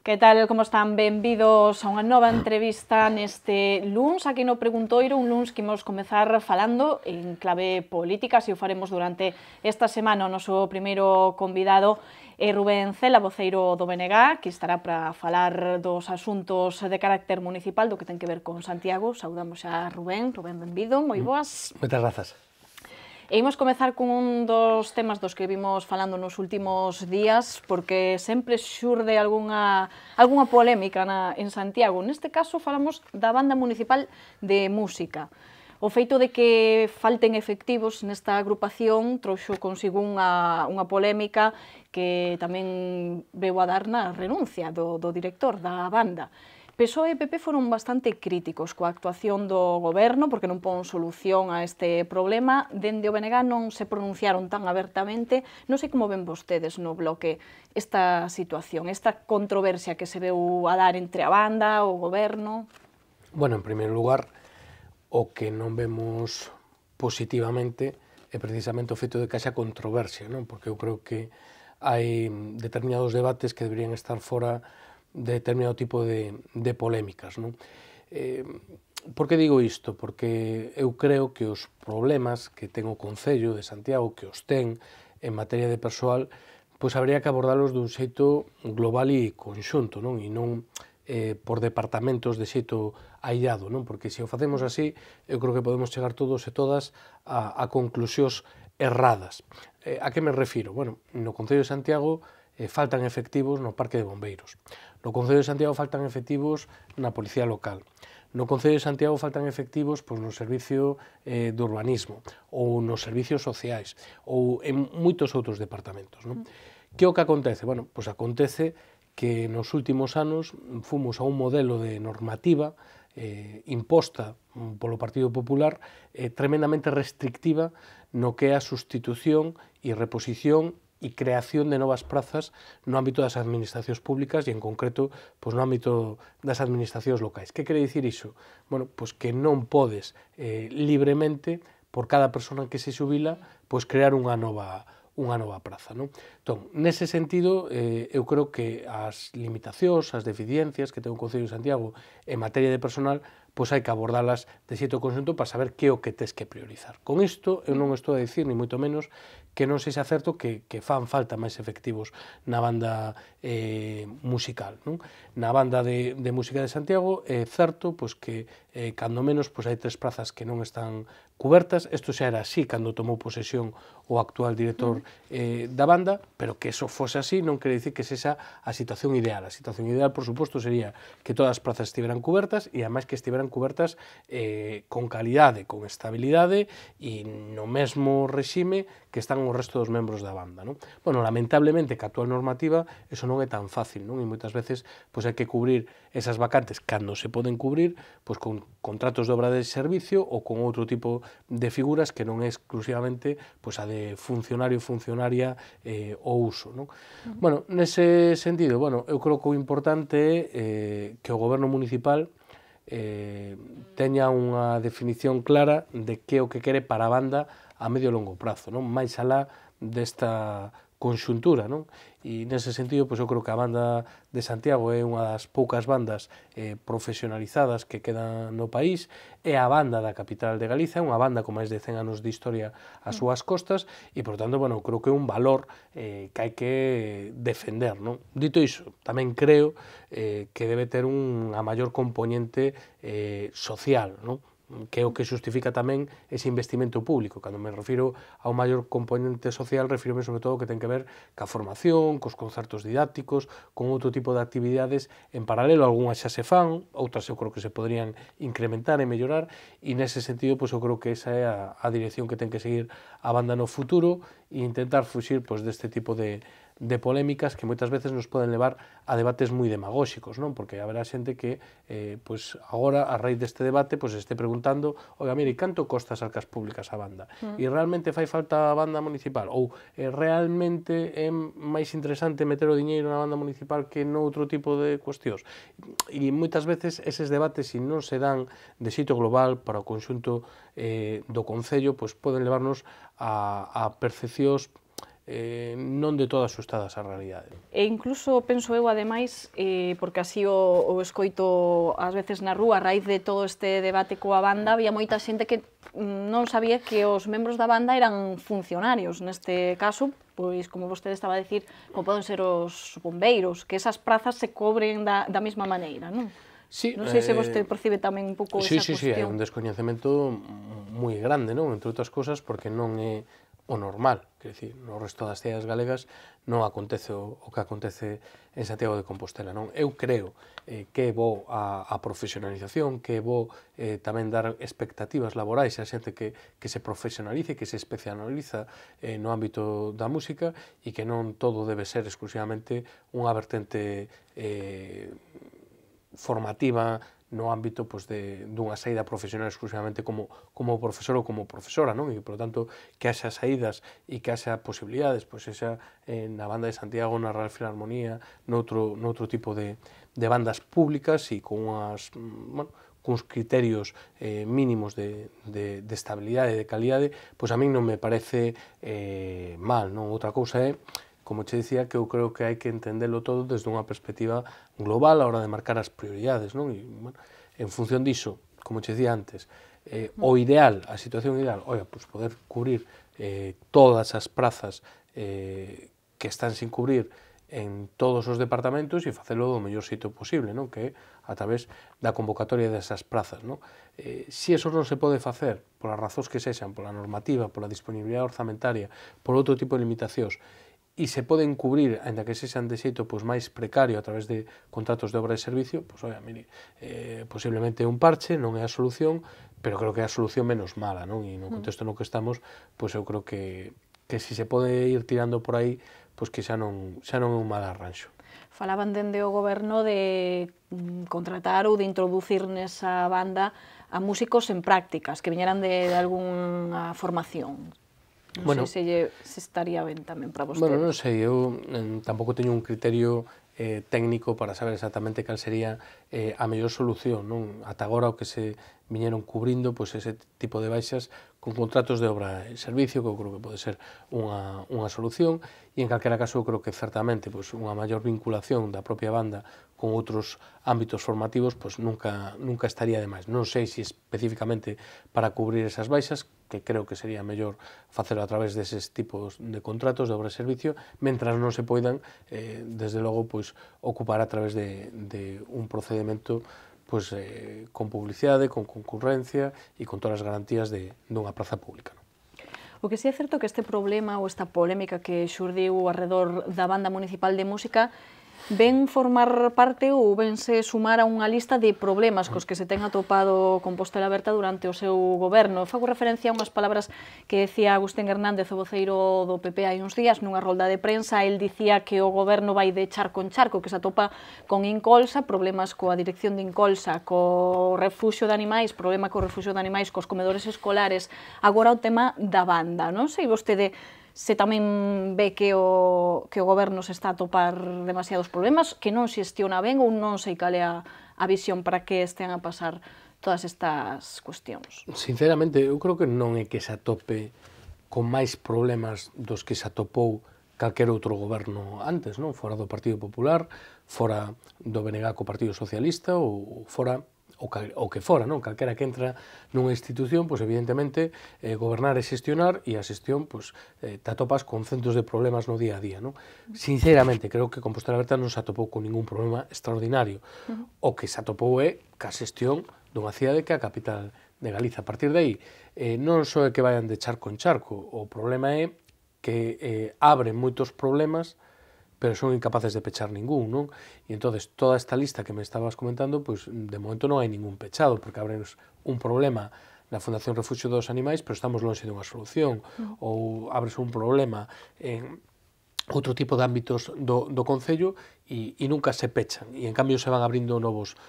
Que tal, como están? Benvidos a unha nova entrevista neste luns aquí no Preguntoiro, un luns que imos comezar falando en clave política, se o faremos durante esta semana. O noso primeiro convidado é Rubén Cela, voceiro do BNG, que estará para falar dos asuntos de carácter municipal, do que ten que ver con Santiago. Saudamos a Rubén. Rubén, benvido, moi boas. Moitas grazas. E imos comezar con un dos temas dos que vimos falando nos últimos días, porque sempre xurde algunha polémica en Santiago. Neste caso falamos da Banda Municipal de Música. O feito de que falten efectivos nesta agrupación trouxo consigo unha polémica que tamén veu a dar na renuncia do director da banda. PSOE e PP foron bastante críticos coa actuación do goberno porque non pon solución a este problema. Dende o BNG non se pronunciaron tan abertamente. Non sei como ven vostedes no bloque esta situación, esta controversia que se veu a dar entre a banda, o goberno. Bueno, en primeiro lugar, o que non vemos positivamente é precisamente o feito de que haxa controversia, non? Porque eu creo que hai determinados debates que deberían estar fora de determinado tipo de polémicas, non? Por que digo isto? Porque eu creo que os problemas que ten o Concello de Santiago, que os ten en materia de persoal, pois habría que abordalos dun xeito global e conxunto, non? E non por departamentos de xeito aillado, non? Porque se o facemos así, eu creo que podemos chegar todos e todas a conclusións erradas. A que me refiro? Bueno, no Concello de Santiago faltan efectivos no Parque de Bombeiros. No Concello de Santiago faltan efectivos na Policía Local. No Concello de Santiago faltan efectivos no Servicio de Urbanismo ou nos servicios sociais ou en moitos outros departamentos, non? Que o que acontece? Bueno, pois acontece que nos últimos anos fomos a un modelo de normativa imposta polo Partido Popular tremendamente restrictiva no que é a sustitución e reposición e creación de novas prazas no ámbito das administracións públicas e, en concreto, no ámbito das administracións locais. Que quere dicir iso? Bueno, pois que non podes libremente, por cada persona que se xubila, crear unha nova praza, non? Entón, nese sentido, eu creo que as limitacións, as deficiencias que ten o Concello de Santiago en materia de personal, pois hai que abordalas de xeito conxunto para saber que é o que tes que priorizar. Con isto, eu non estou a dicir, ni moito menos, que non sexa certo que fan falta máis efectivos na banda musical, non? Na banda de música de Santiago é certo que cando menos hai 3 prazas que non están cubertas. Isto xa era así cando tomou posesión o actual director da banda, pero que eso fose así non quere dicir que sexa a situación ideal. A situación ideal, por suposto, sería que todas as prazas estiveran cubertas e, ademais, que estiveran cubertas con calidade, con estabilidade e no mesmo regime que están o resto dos membros da banda, non? Bueno, lamentablemente, que a actual normativa, eso non é tan fácil, non? E moitas veces hai que cubrir esas vacantes cando se poden cubrir con contratos de obra de servicio ou con outro tipo de figuras que non é exclusivamente a de funcionario, funcionaria ou uso, non? Bueno, nese sentido, eu creo que o importante é que o goberno municipal teña unha definición clara de que é o que quere para a banda a medio e longo prazo, non? Mais alá desta conxuntura, non? E nese sentido, eu creo que a banda de Santiago é unha das poucas bandas profesionalizadas que quedan no país, é a banda da capital de Galicia, unha banda con máis de 100 anos de historia ás súas costas e, por tanto, creo que é un valor que hai que defender, non? Dito iso, tamén creo que debe ter unha maior componente social, non? Que é o que xustifica tamén ese investimento público. Cando me refiro a un maior componente social, refírome sobre todo que ten que ver ca formación, cos concertos didácticos, con outro tipo de actividades en paralelo. Algúnas xa se fan, outras eu creo que se podrían incrementar e mellorar, e nese sentido eu creo que esa é a dirección que ten que seguir a banda no futuro e intentar fuxir deste tipo de polémicas que moitas veces nos poden levar a debates moi demagóxicos, non? Porque haberá xente que agora, a raíz deste debate, este preguntando: oiga, mire, canto costa as arcas públicas a banda? E realmente fai falta a banda municipal? Ou realmente é máis interesante meter o diñeiro na banda municipal que noutro tipo de cuestións? E moitas veces eses debates, se non se dan de xeito global para o conxunto do Concello, poden levarnos a percepcións non de todas xustadas á realidade. E incluso penso eu, ademais, porque así o escoito ás veces na rúa, a raíz de todo este debate coa banda, había moita xente que non sabía que os membros da banda eran funcionarios. Neste caso, pois, como vostede estaba a decir, como poden ser os bombeiros, que esas prazas se cobren da mesma maneira, non? Sí, non sei se vostede percibe tamén un pouco esa cuestión. Sí, hai un descoñecemento moi grande, non? Entre outras cosas, porque non é o normal, quer dicir, no resto das cidades galegas non acontece o que acontece en Santiago de Compostela, non? Eu creo que é bo a profesionalización, que é bo tamén dar expectativas laborais a xente que se profesionalice, que se especializa no ámbito da música e que non todo debe ser exclusivamente unha vertente formativa no ámbito dunha saída profesional exclusivamente como profesor ou como profesora, non? E, por tanto, que haxa saídas e que haxa posibilidades, pois, xa na Banda de Santiago, na Real Filarmonía, noutro tipo de bandas públicas e con uns criterios mínimos de estabilidade e de calidade, pois a min non me parece mal, non? Outra cousa é, como che dicía, que eu creo que hai que entendelo todo desde unha perspectiva global a hora de marcar as prioridades, non? E, bueno, en función diso, como che dicía antes, o ideal, a situación ideal, pois poder cubrir todas as prazas que están sin cubrir en todos os departamentos e facelo do mellor xeito posible, non? Que é a través da convocatoria desas prazas, non? Se eso non se pode facer polas razóns que sexan, pola normativa, pola disponibilidade orzamentaria, por outro tipo de limitacións, e se poden cubrir, ainda que sexan de xeito máis precario a través de contratos de obra e servicio, mire, posiblemente é un parche, non é a solución, pero creo que é a solución menos mala, non? E no contexto no que estamos, eu creo que se se pode ir tirando por aí, que xa non é un mal arranxo. Falaban dende o goberno de contratar ou de introducir nesa banda a músicos en prácticas, que viñeran de algunha formación. Non sei se estaría ben tamén para vostedes. Bueno, non sei, eu tampouco teño un criterio técnico para saber exactamente cal sería a mellor solución, non? Ata agora o que se viñeron cubrindo, pois ese tipo de baixas con contratos de obra e servicio, que eu creo que pode ser unha solución, e en calquera caso eu creo que certamente unha maior vinculación da propia banda con outros ámbitos formativos nunca estaría de máis. Non sei se especificamente para cubrir esas baixas, que creo que sería mellor facelo a través deses tipos de contratos de obra e servicio, mentras non se poidan, desde logo, ocupar a través de un procedimento con publicidade, con concurrencia e con todas as garantías dunha praza pública. O que si é certo que este problema ou esta polémica que xurdiu arredor da Banda Municipal de Música ven formar parte ou vense sumar a unha lista de problemas cos que se ten atopado Compostela Aberta durante o seu goberno. Fago referencia a unhas palabras que decía Agustín Hernández, o voceiro do PP, hai uns días, nunha rolda de prensa. El dicía que o goberno vai de charco en charco, que se atopa con Incolsa, problemas coa dirección de Incolsa, co refuxio de animais, problema co refuxio de animais, cos comedores escolares, agora o tema da banda. Non sei vostede se tamén ve que o goberno se está a topar demasiados problemas, que non xestiona ben ou non sei cal é a visión para que estean a pasar todas estas cuestións. Sinceramente, eu creo que non é que se atope con máis problemas dos que se atopou calquer outro goberno antes, non? Fora do Partido Popular, fora do BNG co Partido Socialista ou fora o que fora, non? Calquera que entra nunha institución, evidentemente, gobernar e xestionar, e a xestión, te atopas con centos de problemas no día a día, non? Sinceramente, creo que Compostela Aberta non se atopou con ningún problema extraordinario. O que se atopou é ca xestión dunha cidade que é a capital de Galiza. A partir de aí, non só é que vayan de charco en charco, o problema é que abren moitos problemas, pero son incapaces de pechar ningún, non? E entonces toda esta lista que me estabas comentando, de momento non hai ningún pechado, porque abren un problema na Fundación Refuxio dos Animais, pero estamos lonxe dunha solución, ou abres un problema en outro tipo de ámbitos do Concello e nunca se pechan, e en cambio se van abrindo novos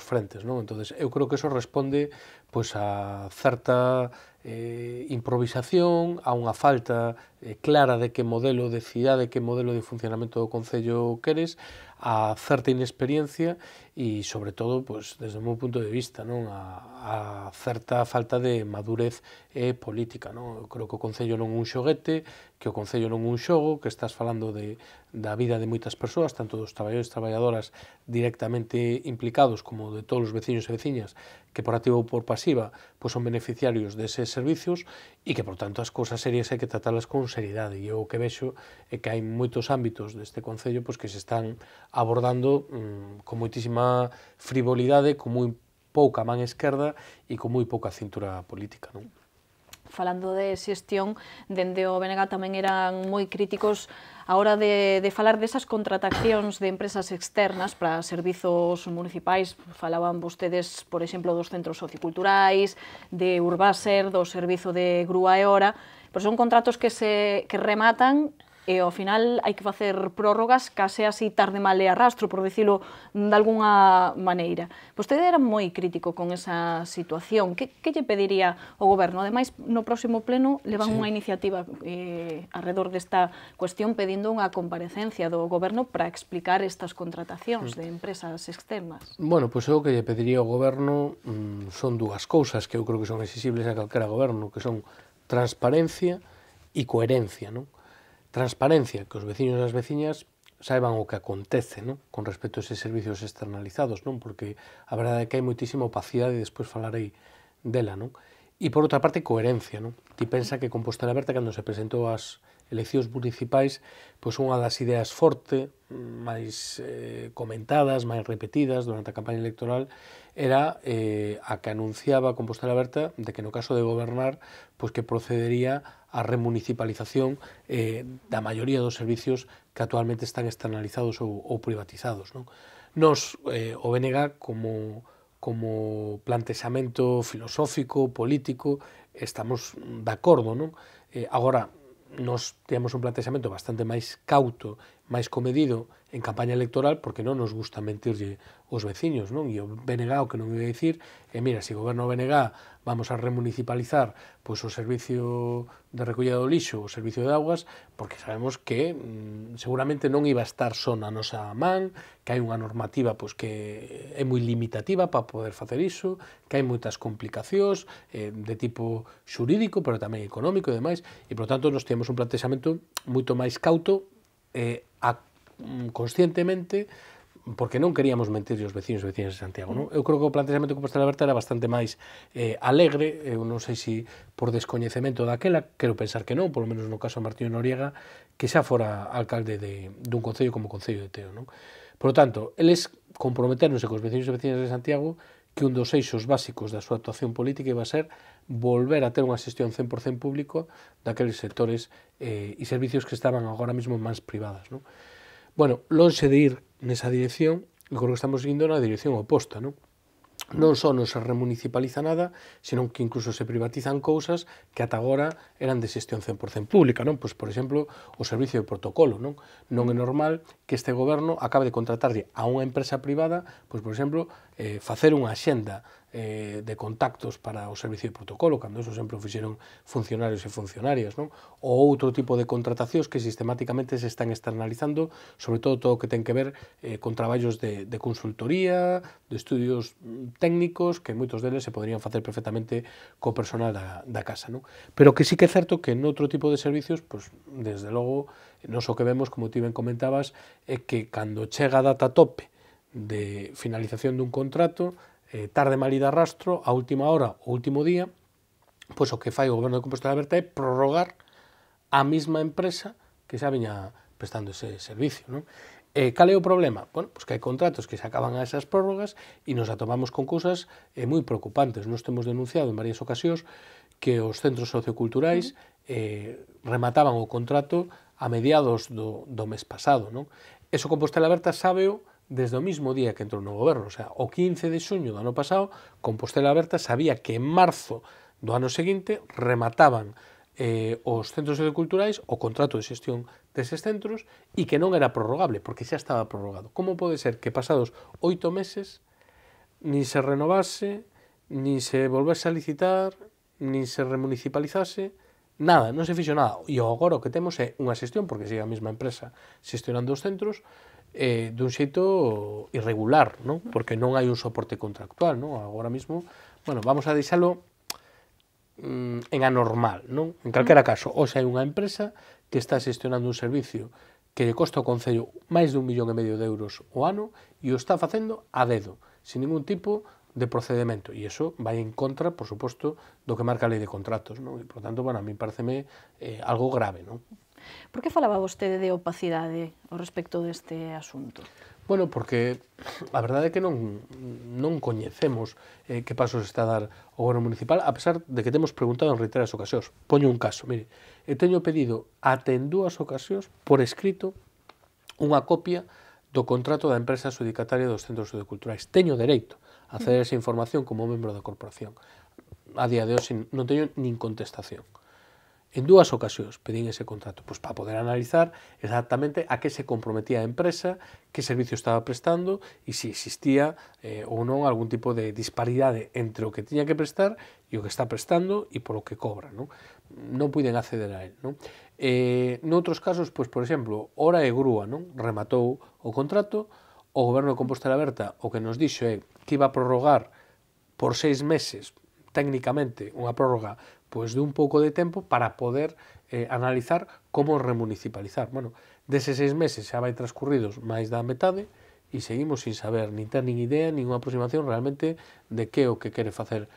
frentes, non? Entonces eu creo que eso responde a certa improvisación, a unha falta clara de que modelo de cidade, que modelo de funcionamento do Concello queres, a certa inexperiencia e, sobre todo, pues, desde o meu punto de vista, non, a certa falta de madurez política. Non? Eu creo que o Concello non é un xoguete, que o Concello non é un xogo, que estás falando da vida de moitas persoas, tanto dos traballadores e traballadoras directamente implicados como de todos os veciños e veciñas que por activa ou por pasiva pues, son beneficiarios deses servicios e que, por tanto, as cousas serias hai que tratalas con seriedade. E eu o que vexo é que hai moitos ámbitos deste Concello pues, que se están abordando con moitísima frivolidade, con moi pouca man esquerda e con moi pouca cintura política. Non? Falando de xestión, dende o BNG tamén eran moi críticos a hora de falar desas contratacións de empresas externas para servizos municipais. Falaban vostedes, por exemplo, dos centros socioculturais, de Urbaser, do servizo de grúa e hora, pero son contratos que rematan e ao final hai que facer prórrogas case así tarde mal e arrastro, por dicilo de alguna maneira. Vostede era moi crítico con esa situación. Que lle pediría ao Goberno? Ademais, no próximo pleno levan unha iniciativa alrededor desta cuestión pedindo unha comparecencia do Goberno para explicar estas contratacións de empresas externas. Bueno, pois eu que lle pediría ao Goberno son dúas cousas que eu creo que son exigibles a calquera Goberno, que son transparencia e coherencia, non? Transparencia, que os veciños e as veciñas saiban o que acontece, non? Con respecto a eses servicios externalizados, non? Porque a verdade é que hai moitísima opacidade e despois falarei dela, non? E por outra parte, coherencia, non? Ti pensa que Compostela Aberta, cando se presentou ás eleccións municipais, pois unha das ideas forte, máis comentadas, máis repetidas durante a campaña electoral, era a que anunciaba Compostela Aberta de que no caso de gobernar, pois que procedería a remunicipalización da maioría dos servicios que actualmente están externalizados ou privatizados. Non? Nos, o BNG, como plantexamento filosófico, político, estamos de acordo. Non? Agora, nos temos un plantexamento bastante máis cauto, máis comedido en campaña electoral, porque non nos gusta mentirlle os veciños, non? E o BNG o que non iba a dicir é, mira, se goberna o BNG vamos a remunicipalizar pois, o servicio de recollida do lixo, o servicio de augas, porque sabemos que seguramente non iba a estar só na nosa man, que hai unha normativa pois, que é moi limitativa para poder facer iso, que hai moitas complicacións de tipo xurídico, pero tamén económico e demais, e, por tanto, nos temos un plantexamento moito máis cauto conscientemente, porque non queríamos mentir aos veciños e veciñas de Santiago. Non? Eu creo que o plantexamento de Compostela Aberta era bastante máis alegre, eu non sei se por descoñecemento daquela, quero pensar que non, polo menos no caso de Martiño Noriega, que xa fora alcalde dun concello como o Concello de Teo. Non? Por lo tanto, eles comprometeronse cos veciños e veciñas de Santiago que un dos eixos básicos da súa actuación política iba a ser volver a ter unha xestión 100% público daqueles sectores e servicios que estaban agora mesmo en mans privadas. Non? Bueno, lonxe de ir nesa dirección, eu creo que estamos seguindo na dirección oposta, non? Non só non se remunicipaliza nada, senón que incluso se privatizan cousas que ata agora eran de xestión 100% pública, non? Pois, por exemplo, o servicio de protocolo, non? Non é normal que este goberno acabe de contratarlle a unha empresa privada, pois, por exemplo, facer unha axenda de contactos para o servicio de protocolo, cando eso sempre o fixeron funcionarios e funcionarias, non? Ou outro tipo de contratacións que sistemáticamente se están externalizando, sobre todo o que ten que ver con traballos de consultoría, de estudios técnicos, que moitos deles se poderían facer perfectamente co personal da casa, non? Pero que sí que é certo que noutro tipo de servicios, pois, desde logo, non só que vemos, como ti ben comentabas, é que cando chega a data tope de finalización dun contrato, tarde mal e de arrastro, a última hora, o último día, pois o que fai o Goberno de Compostela Aberta é prorrogar a mesma empresa que xa viña prestando ese servicio. Non? Cal é o problema? Bueno, pois que hai contratos que se acaban a esas prórrogas e nos atopamos con cousas moi preocupantes. Nos temos denunciado en varias ocasións que os centros socioculturais remataban o contrato a mediados do mes pasado. Non? Eso Compostela Aberta sábeo desde o mismo día que entrou no goberno, o sea, o 15 de xuño do ano pasado, Compostela Aberta sabía que en marzo do ano seguinte remataban os centros socioculturais o contrato de xestión deses centros e que non era prorrogable, porque xa estaba prorrogado. Como pode ser que pasados 8 meses nin se renovase, nin se volvese a licitar, nin se remunicipalizase Nada, non se fixo nada. E agora o que temos é unha xestión, porque sigue a mesma empresa xestionando os centros, dun xeito irregular, non? Porque non hai un soporte contractual, non? Agora mesmo, bueno, vamos a deixalo en anormal, non? En calquera caso, hoxe hai unha empresa que está xestionando un servicio que lle costa ao Concello máis de 1,5 millón de euros o ano e o está facendo a dedo, sin ningún tipo de procedimento, e iso vai en contra, por suposto, do que marca a lei de contratos, non? E, por tanto, bueno, a mí pareceme algo grave, non? Por que falaba vostede de opacidade ao respecto deste asunto? Bueno, porque a verdade é que non coñecemos que pasos está a dar o goberno municipal, a pesar de que temos preguntado en reiteradas ocasións. Poño un caso, mire, eu teño pedido ate en 2 ocasións por escrito unha copia do contrato da empresa adxudicataria dos centros socioculturais. Teño dereito a acceder a esa información como membro da corporación. A día de hoxe non teño nin contestación. En 2 ocasións pedín ese contrato, pois para poder analizar exactamente a que se comprometía a empresa, que servicio estaba prestando e se existía ou non algún tipo de disparidade entre o que tiña que prestar e o que está prestando e polo que cobra, non? Non puiden acceder a él, non? Noutros casos, pois, por exemplo, Hora e Grúa, non? Rematou o contrato, o Goberno de Compostela Berta o que nos dixo é que iba a prorrogar por 6 meses, técnicamente, unha prórroga pois de un pouco de tempo para poder analizar como remunicipalizar. Bueno, deses 6 meses xa vai transcurridos máis da metade e seguimos sin saber, nin ter nin idea, nin unha aproximación realmente de que o que quere facer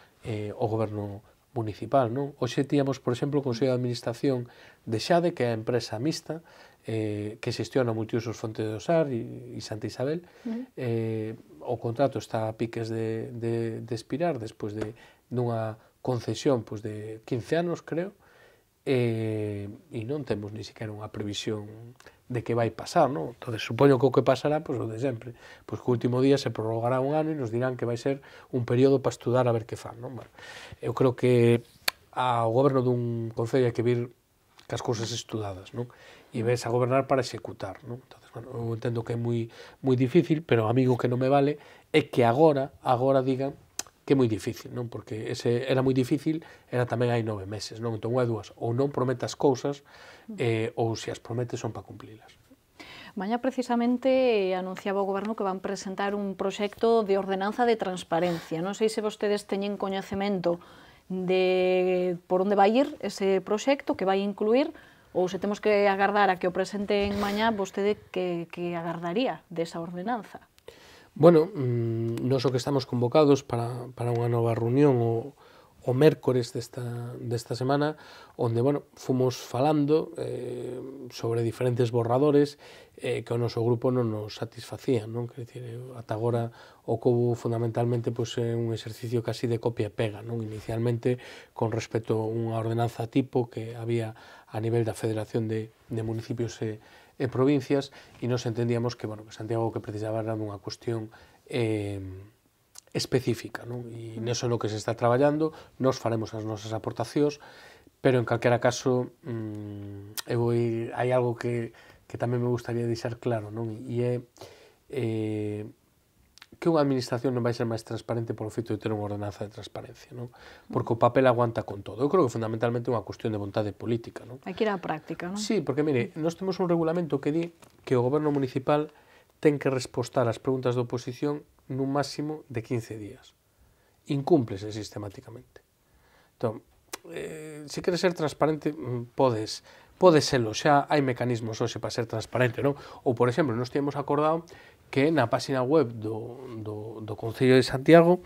o goberno municipal, non? Hoxe tíamos, por exemplo, o Consello de Administración de Xade, que é a empresa mixta que xestiona multiusos Fonte do Sar e Santa Isabel. O contrato está a piques de expirar despois dunha concesión pois, de 15 anos, creo, e non temos ni siquiera unha previsión de que vai pasar, non? Entón, supoño que o que pasará, pois o de sempre, pois que o último día se prorrogará un ano e nos dirán que vai ser un período para estudar a ver que fan, non? Bueno, eu creo que ao goberno dun concello hai que vir cas cousas estudadas, non? E ves a gobernar para executar, non? Entonces, bueno, eu entendo que é moi difícil, pero amigo que non me vale é que agora digan que é moi difícil, non? Porque ese era moi difícil, era tamén hai 9 meses, non? Entón, hai dúas, ou non prometas cousas, ou se as prometes son para cumplilas. Mañá precisamente anunciaba o Goberno que van presentar un proxecto de ordenanza de transparencia. Non sei se vostedes teñen coñecemento de por onde vai ir ese proxecto, que vai incluir, ou se temos que agardar a que o presenten mañá, vostede que agardaría desa ordenanza? Bueno, nos o que estamos convocados para unha nova reunión o mércores desta semana, onde, bueno, fomos falando sobre diferentes borradores que o noso grupo non nos satisfacían, non? Quer dicir, ata agora o que houve fundamentalmente pois, é un exercicio casi de copia e pega, non? Inicialmente con respecto a unha ordenanza tipo que había a nivel da Federación de Municipios e provincias, e nos entendíamos que, bueno, que Santiago que precisaba era unha cuestión específica, non? E neso no que se está traballando, nos faremos as nosas aportacións, pero en calquera caso hai algo que tamén me gustaría deixar claro, non? E é que unha administración non vai ser máis transparente polo feito de ter unha ordenanza de transparencia, non? Porque o papel aguanta con todo. Eu creo que fundamentalmente é unha cuestión de vontade política, non? Hai que ir á práctica, non? Sí, porque, mire, nós temos un regulamento que di que o goberno municipal ten que respostar ás preguntas da oposición nun máximo de 15 días. Incúmplese sistemáticamente. Entón, se queres ser transparente, podes serlo, xa hai mecanismos hoxe para ser transparente, non? Ou, por exemplo, nós temos acordado que na página web do Concello de Santiago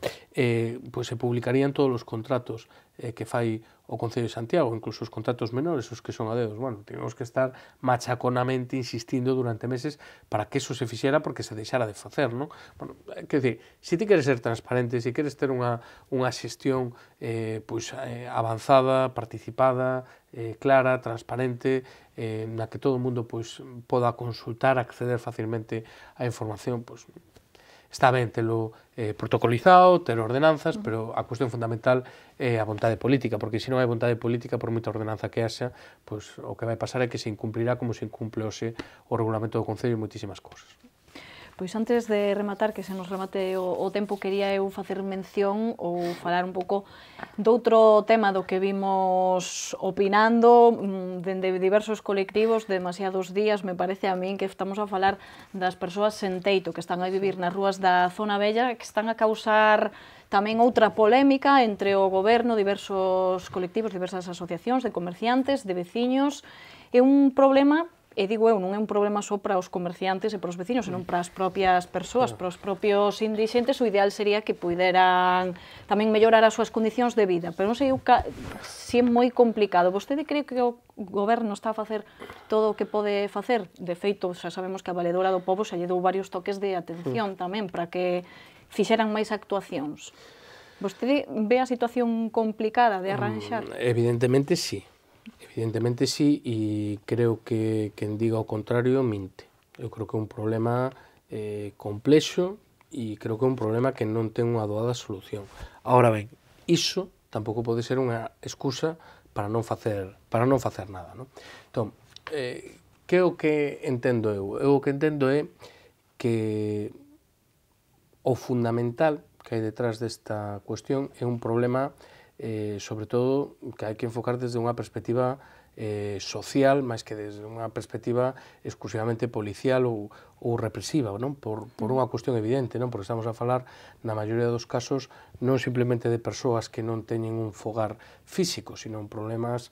pois se publicarían todos os contratos que fai o Concello de Santiago, incluso os contratos menores, os que son a dedos. Bueno, tivemos que estar machaconamente insistindo durante meses para que eso se fixera porque se deixara de facer, non? Bueno, quer dizer, se ti queres ser transparente, se queres ter unha xestión pois avanzada, participada, clara, transparente, na que todo o mundo pois poda consultar, acceder facilmente á información, pois está ben telo protocolizado, ter ordenanzas, pero a cuestión fundamental é a vontade política, porque se non hai vontade política, por moita ordenanza que haxa, pois o que vai pasar é que se incumplirá como se incumple hoxe o regulamento do Concello e moitísimas cousas. Pois antes de rematar, que se nos remate o tempo, quería eu facer mención ou falar un pouco doutro tema do que vimos opinando dende diversos colectivos demasiados días. Me parece a min que estamos a falar das persoas sen teito que están a vivir nas rúas da zona vella, que están a causar tamén outra polémica entre o goberno, diversos colectivos, diversas asociacións de comerciantes, de veciños. É un problema, e digo eu, non é un problema só para os comerciantes e para os veciños, senón para as propias persoas, para os propios indixentes. O ideal sería que puderan tamén mellorar as súas condicións de vida, pero non sei se é moi complicado. Vostede cree que o goberno está a facer todo o que pode facer? De feito, xa sabemos que a Valedora do Pobo xa lle dou varios toques de atención tamén para que fixeran máis actuacións. Vostede ve a situación complicada de arranxar? Evidentemente sí. Evidentemente sí, e creo que quen diga o contrario minte. Eu creo que é un problema complexo e creo que é un problema que non ten unha doada solución. Ahora ben, iso tampouco pode ser unha excusa para non facer nada, non? Entón, que é o que entendo eu? Eu o que entendo é que o fundamental que hai detrás desta cuestión é un problema sobre todo que hai que enfocar desde unha perspectiva social, máis que desde unha perspectiva exclusivamente policial ou represiva, non? Por unha cuestión evidente, non? Porque estamos a falar, na maioría dos casos, non simplemente de persoas que non teñen un fogar físico, sino problemas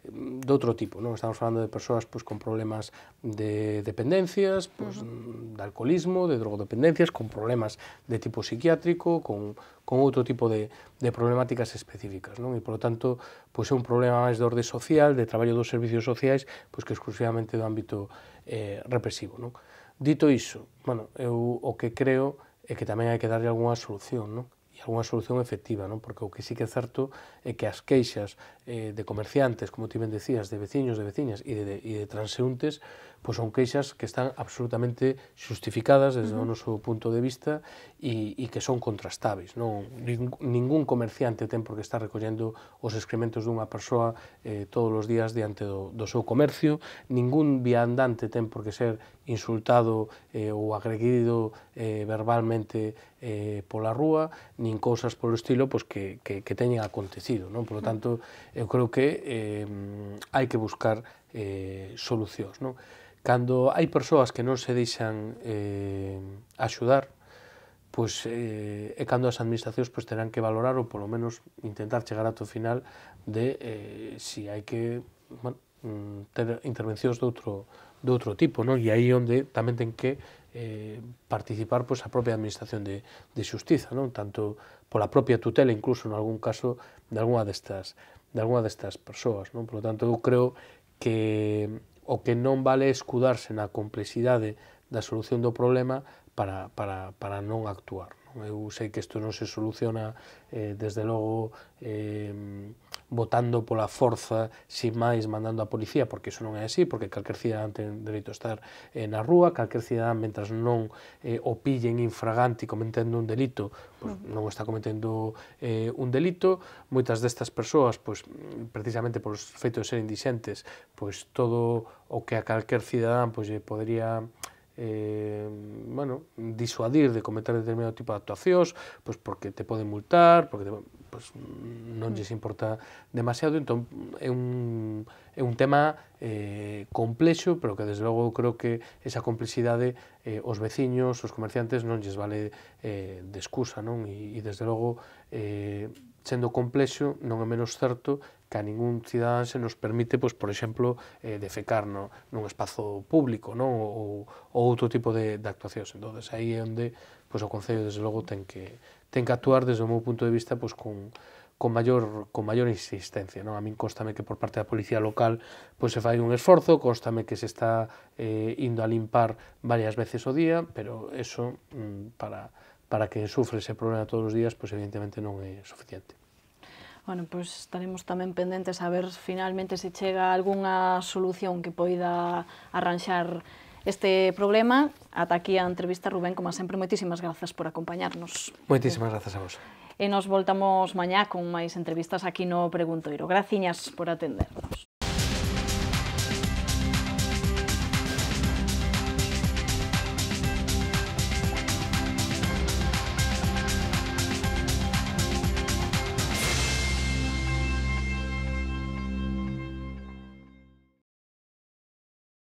de outro tipo, non? Estamos falando de persoas con problemas de dependencias, de alcoholismo, de drogodependencias, con problemas de tipo psiquiátrico, con outro tipo de problemáticas específicas, non? E, polo tanto, é un problema máis de orde social, de traballo dos servicios sociais, que exclusivamente do ámbito represivo, non? Dito iso, eu o que creo é que tamén hai que darlle algunha solución, non? E algunha solución efectiva, non? Porque o que sí que é certo é que as queixas de comerciantes, como ti ben decías, de veciños, de veciñas e de transeúntes, son queixas que están absolutamente xustificadas desde o noso punto de vista e que son contrastáveis, non? Ningún comerciante ten por que estar recollendo os excrementos dunha persoa todos os días diante do seu comercio, ningún viandante ten por que ser insultado ou agredido verbalmente pola rúa, nin cousas polo estilo que teñen acontecido, non? Por lo tanto, eu creo que hai que buscar solucións, non? Cando hai persoas que non se deixan axudar, é cando as administracións terán que valorar ou polo menos intentar chegar ata o final de se hai que ter intervencións de outro tipo, non? E aí onde tamén ten que participar a propia administración de xustiza, non? Tanto pola propia tutela, incluso en algún caso de algunha destas persoas, non? Por lo tanto, eu creo que o que non vale escudarse na complexidade da solución do problema para non actuar. Eu sei que isto non se soluciona desde logo votando pola forza, sin máis mandando a policía, porque iso non é así, porque calquer cidadán ten dereito a estar na rúa, calquer cidadán, mentras non o pillen infragante cometendo un delito, non está cometendo un delito. Moitas destas persoas, precisamente polos feitos de ser indixentes, todo o que a calquer cidadán lle podería disuadir de cometer determinado tipo de actuacións, porque te poden multar, porque non lles importa demasiado. Entón é un tema complexo, pero que desde logo creo que esa complexidade os veciños, os comerciantes non lles vale de excusa, non? E desde logo, sendo complexo, non é menos certo que a ningún cidadán se nos permite, por exemplo, defecar nun espazo público, non? Ou outro tipo de actuacións. Entón, aí é onde o Concello, desde logo, ten que actuar, desde o meu punto de vista, con maior insistencia, non? A min constame que por parte da Policía Local se fai un esforzo, constame que se está indo a limpar varias veces ao día, pero eso, para quen sufre ese problema todos os días, evidentemente non é suficiente. Bueno, estaremos tamén pendentes a ver finalmente se chega algunha solución que poida arranxar este problema. Ata aquí a entrevista, Rubén, como sempre, moitísimas grazas por acompañarnos. Moitísimas grazas a vos. E nos voltamos mañá con máis entrevistas aquí no Preguntoiro. Graciñas por atendernos.